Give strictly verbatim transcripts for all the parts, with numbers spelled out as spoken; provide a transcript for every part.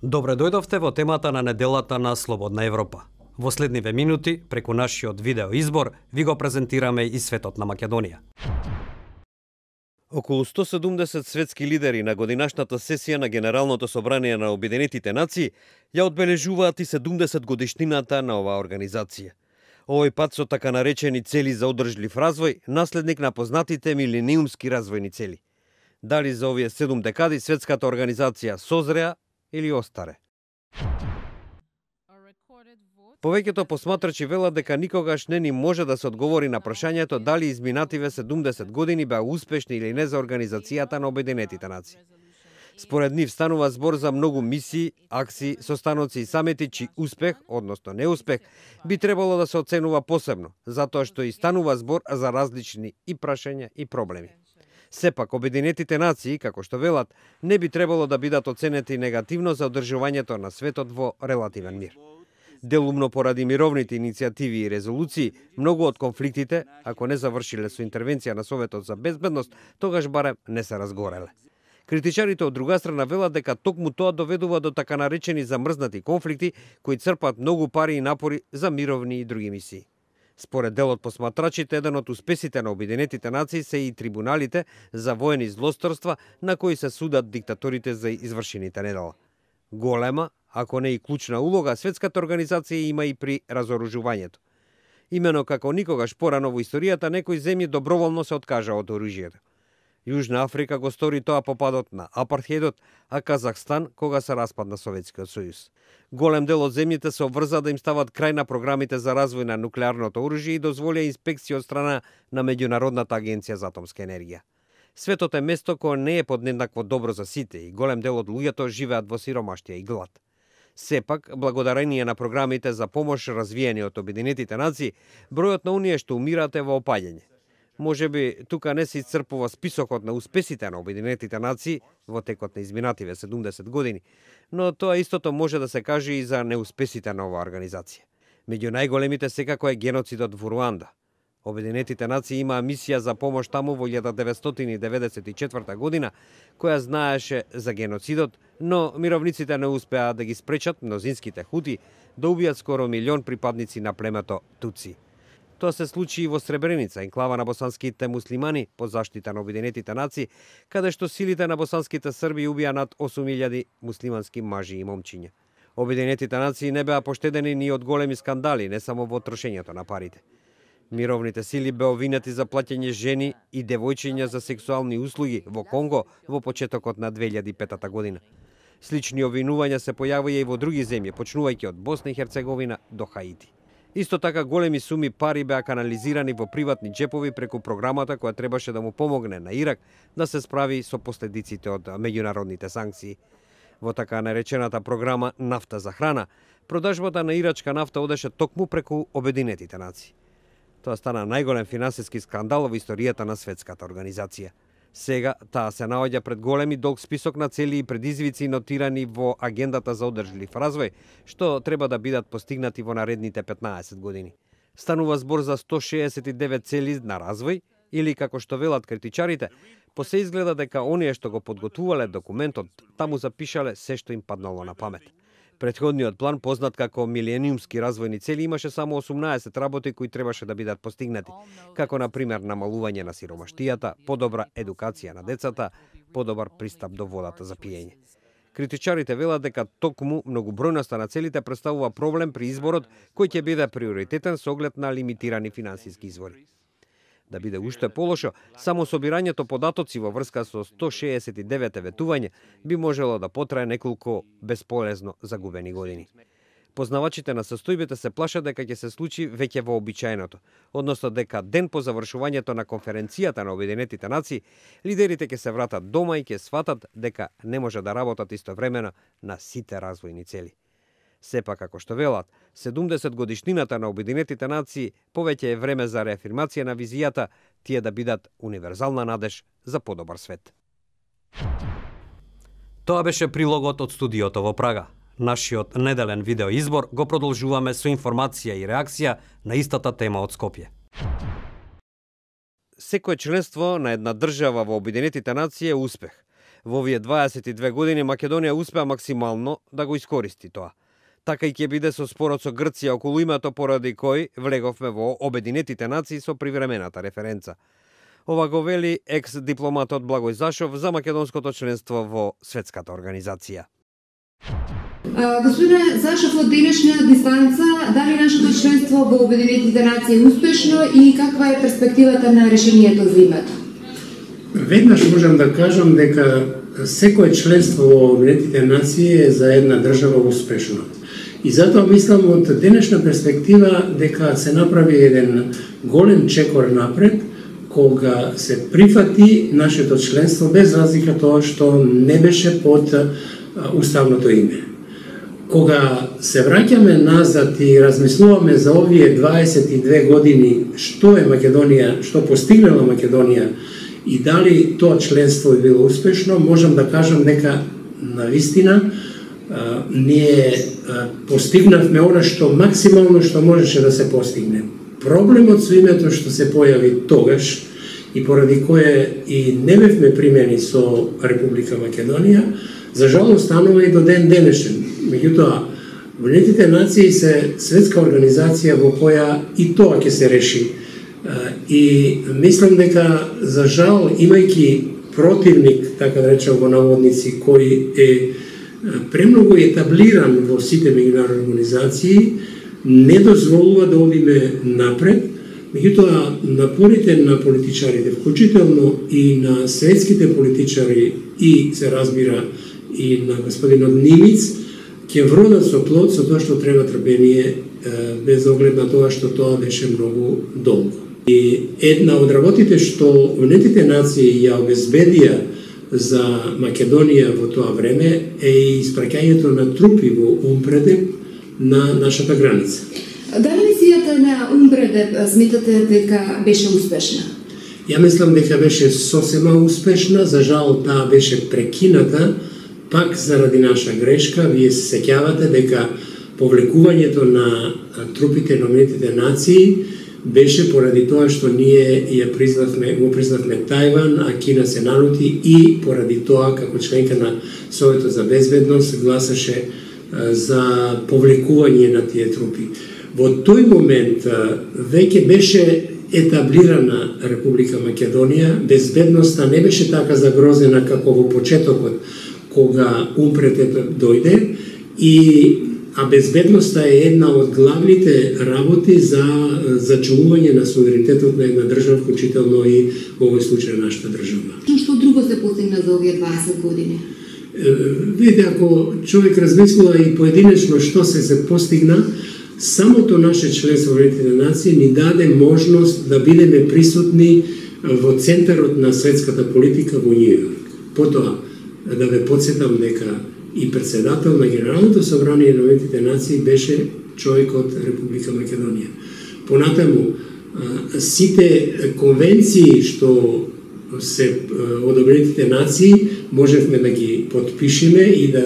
Добре дојдовте во темата на неделата на Слободна Европа. Во следниве минути, преку нашиот видео избор, ви го презентираме и светот на Македонија. Околу сто седумдесет светски лидери на годинашната сесија на Генералното собрание на Обединетите нации ја одбележуваат и седумдесет годишнината на оваа организација. Овој пат со така наречени цели за одржлив развој, наследник на познатите милениумски развојни цели. Дали за овие седум декади светската организација созреа или остаре? Повеќето посматрачи велат дека никогаш не ни може да се одговори на прашањето дали изминативе седумдесет години беа успешни или не за Организацијата на Обединетите нации. Според нив станува збор за многу мисии, акции, состаноци и самити чиј успех, односно неуспех, би требало да се оценува посебно, затоа што и станува збор за различни и прашања и проблеми. Сепак, Обединетите нации, како што велат, не би требало да бидат оценети негативно за одржувањето на светот во релативен мир. Делумно поради мировните иницијативи и резолуции, многу од конфликтите, ако не завршиле со интервенција на Советот за безбедност, тогаш барем не се разгореле. Критичарите од друга страна велат дека токму тоа доведува до така наречени замрзнати конфликти, кои црпат многу пари и напори за мировни и други мисии. Според дел од посматрачите, еден од успесите на Обединетите нации се и трибуналите за воени злосторства на кои се судат диктаторите за извршените недела. Голема, ако не и клучна улога, светската организација има и при разоружувањето. Имено како никогаш порано во историјата, некои земји доброволно се откажа од оружјето. Јужна Африка го стори тоа по падот на апартхеидот, а Казахстан кога се распадна Советскиот сојуз. Голем дел од земјите се обврза да им стават крај на програмите за развој на нуклеарното оружје и дозволија инспекција од страна на Меѓународната агенција за атомска енергија. Светот е место кое не е поднеднакво добро за сите и голем дел од луѓето живеат во сиромаштија и глад. Сепак, благодарение на програмите за помош развиени од Обединетите нации, бројот на оние што умираат е во опаѓање. Може би тука не се исцрпува списокот на успесите на Обединетите нации во текот на изминативе седумдесет години, но тоа истото може да се каже и за неуспесите на оваа организација. Меѓу најголемите секако е геноцидот во Руанда. Обединетите нации имаа мисија за помош таму во илјада деветстотини деветдесет и четврта година, која знаеше за геноцидот, но мировниците не успеа да ги спречат мнозинските хути да убијат скоро милион припадници на племето Туци. Тоа се случи и во Сребреница, енклава на босанските муслимани под заштита на Обединетите нации, каде што силите на босанските срби убија над осум илјади муслимански мажи и момчиња. Обединетите нации не беа поштедени ни од големи скандали, не само во трошењето на парите. Мировните сили беа обвинети за плаќање жени и девојчиња за сексуални услуги во Конго во почетокот на две илјади и петта година. Слични обвинувања се појавија и во други земји, почнувајќи од Босна и Херцеговина до Хаити. Исто така големи суми пари беа канализирани во приватни джепови преку програмата која требаше да му помогне на Ирак да се справи со последиците од меѓународните санкции. Во така наречената програма Нафта за храна, продажбата на ирачка нафта одеше токму преку Обединетите нации. Тоа стана најголем финансиски скандал во историјата на светската организација. Сега таа се наоѓа пред големи долг список на цели и предизвици нотирани во агендата за одржлив развој, што треба да бидат постигнати во наредните петнаесет години. Станува збор за сто шеесет и девет цели на развој, или како што велат критичарите, по се изгледа дека оние што го подготвувале документот, таму запишале се што им паднало на памет. Претходниот план, познат како милениумски развојни цели, имаше само осумнаесет работи кои требаше да бидат постигнати, како на пример намалување на сиромаштијата, подобра едукација на децата, подобар пристап до водата за пиење. Критичарите велат дека токму многобројноста на целите представува проблем при изборот кој ќе биде приоритетен со оглед на лимитирани финансиски извори. Да биде уште полошо, само собирањето податоци во врска со сто шеесет и девет ветување би можело да потрае неколку бесполезно загубени години. Познавачите на состојбите се плашат дека ќе се случи веќе вообичаеното, односно дека ден по завршувањето на конференцијата на Обединетите нации, лидерите ќе се вратат дома и ќе сватат дека не може да работат истовремено на сите развојни цели. Сепак, како што велат, седумдесет годишнината на Обединетите нации повеќе е време за реафирмација на визијата, тие да бидат универзална надеж за подобар свет. Тоа беше прилогот од студиото во Прага. Нашиот неделен видео избор го продолжуваме со информација и реакција на истата тема од Скопје. Секое членство на една држава во Обединетите нации е успех. Во овие дваесет и две години Македонија успеа максимално да го искористи тоа. Така и ќе биде со спорот со Грција околу името поради кој влеговме во Обединетите нации со привремената референца. Ова го вели екс-дипломатот Благој Зашов за македонското членство во светската организација. Господине Зашов, од денешна дистанца, дали нашето членство во Обединетите нации е успешно и каква е перспективата на решението за името? Веднаш можам да кажам дека секое членство во Обединетите нации е за една држава успешно. И затоа мислам од денешна перспектива дека се направи еден голем чекор напред кога се прифати нашето членство без разлика тоа што не беше под уставното име. Кога се враќаме назад и размислуваме за овие дваесет и две години што е Македонија, што постигнала Македонија и дали тоа членство е било успешно, можам да кажам дека навистина а, ние а, постигнавме она што максимално што можеше да се постигне. Проблемот со името што се појави тогаш и поради кое и не бевме примени со Република Македонија, за жал останува и до ден денешен. Меѓутоа, Обединетите нации се светска организација во која и тоа ќе се реши. И мислам дека, за жал, имајќи противник, така да речем во наводници, кој е премногу етаблиран во сите меѓународни организации, не дозволува да одиме напред. Меѓутоа, напорите на политичарите, вклучително и на светските политичари и, се разбира, и на господинот Нимиц, ќе вродат со плод со тоа што треба трпение, без оглед на тоа што тоа беше многу долго. И една од работите што Обединетите нации ја обезбедија за Македонија во тоа време е и испраќањето на трупи во Умпредеп на нашата граница. Дали мисијата на Умпредеп сметате дека беше успешна? Ја мислам дека беше сосема успешна, за жал таа беше прекината пак заради наша грешка. Вие се сеќавате дека повлекувањето на трупите на Обединетите нации беше поради тоа што ние ја признавме, го признавме Тајван, а Кина се налути и поради тоа како членка на Советот за безбедност гласаше за повлекување на тие трупи. Во тој момент веќе беше етаблирана Република Македонија, безбедноста не беше така загрозена како во почетокот кога Умпредеп дојде, и а безбедноста е една од главните работи за зачувување на суверенитетот на една држава, вклучително и во овој случај нашата држава. Што друго се постигна за овие дваесет години? Видите, ако човек размислува и поединечно што се се постигна, самото наше членство во Обединетите нации ни даде можност да бидеме присутни во центарот на светската политика во Њу Јорк. Потоа, да ве подсетам дека и председател на Генералното собрание на Обединетите нации беше човек од Република Македонија. Понатаму, сите конвенции што се од Обединетите нации можевме да ги подпишеме и да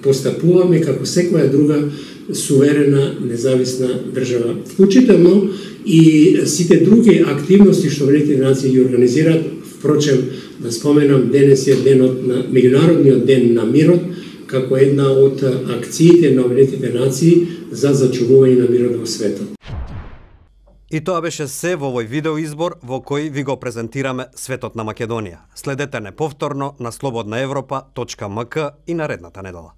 постапуваме како секоја друга суверена, независна држава. Вклучително и сите други активности што Обединетите нации ги организираат. Впрочем, да споменам, денес е денот на Меѓународниот ден на мирот, како една од акциите на Обединетите нации за зачувување на мирот во светот. И тоа беше се во овој видеоизбор во кој ви го презентираме светот на Македонија. Следете не повторно на слободна европа точка ем ка и наредната недела.